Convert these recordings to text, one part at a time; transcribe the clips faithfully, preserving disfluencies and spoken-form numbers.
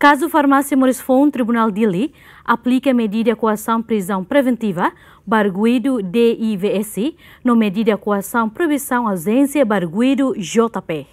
Kazu Farmásia Moris Foun, Tribunál Dili aplika medida koasaun prizaun preventiva ba arguidu D I V S no medida koasaun proibisaun auzénsia ba arguidu J P.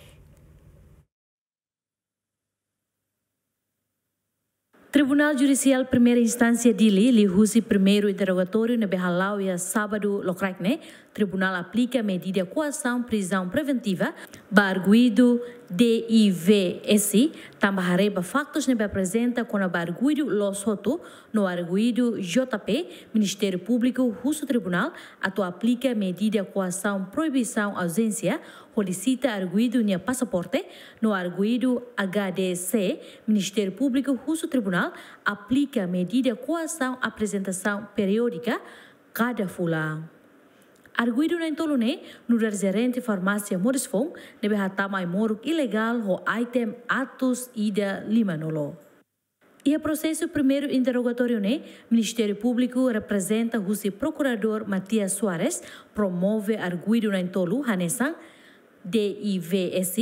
Tribunál Judisiál Primeira Instánsia Dili, liuhusi primeiru interrogatóriu ne'ebé hala'o iha sábadu lokraik ne'e, tribunál aplika medida koasaun prizaun preventiva ba arguidu D I V S, tanba haree ba faktus ne'ebé aprezenta kona-ba arguidu loos hotu no arguidu J P, Ministériu Públiku husu tribunál atu aplika medida koasaun proibisaun auzénsia hodi sita arguidu nia pasaporte, no arguidu H D C, Ministériu Públiku husu tribunál aplika medida koasaun aprezentasaun periódika kada fulan. Arguidu na'in-tolu ne'e nu'udar jerente farmásia Moris Foun ne'ebé hatama ai-moruk ilegál ho item atus ida lima-nulu. Iha prosesu primeiru interrogatóriu ne'e, Ministériu Públiku reprezenta husi Prokuradór Matias Soares promove arguidu na'in-tolu hanesan D I V S,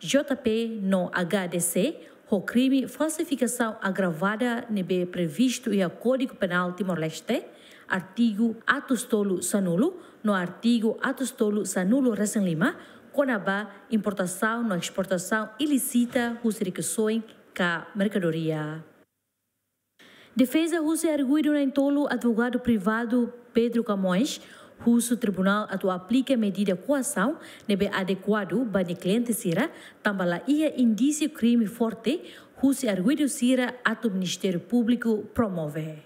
J P no H D C ho krime falsifikasaun agravada ne'ebé previstu iha Kódigu Penál Timor-Leste, artigu atus tolu sanulu no artigu atus tolu sanulu-resin-lima, kona-ba importasaun no esportasaun ilísita husi rikusoin ka merkadoria. Defeza husi arguidu na'in-tolu, advogadu privadu Pedro Camões, husu tribunál atu aplika medida koasaun ne'ebé adekuadu ba nia kliente sira, tanba la iha indísiu krime forte husi arguidu sira atu Ministériu Públiku promove.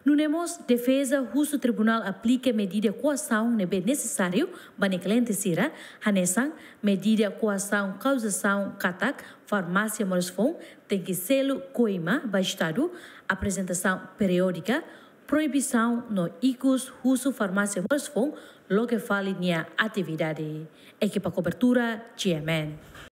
Nune'e mós defeza husu tribunál aplika medida koasaun ne'ebé nesesáriu ba nia kliente sira, hanesan medida koasaun kauzasaun katak farmásia Moris Foun tenke selu koima ba Estadu, aprezentasaun periódika, proibisaun no ikus husu farmásia Moris Foun loke fali nia atividade. Ekipa kobertura, G M N.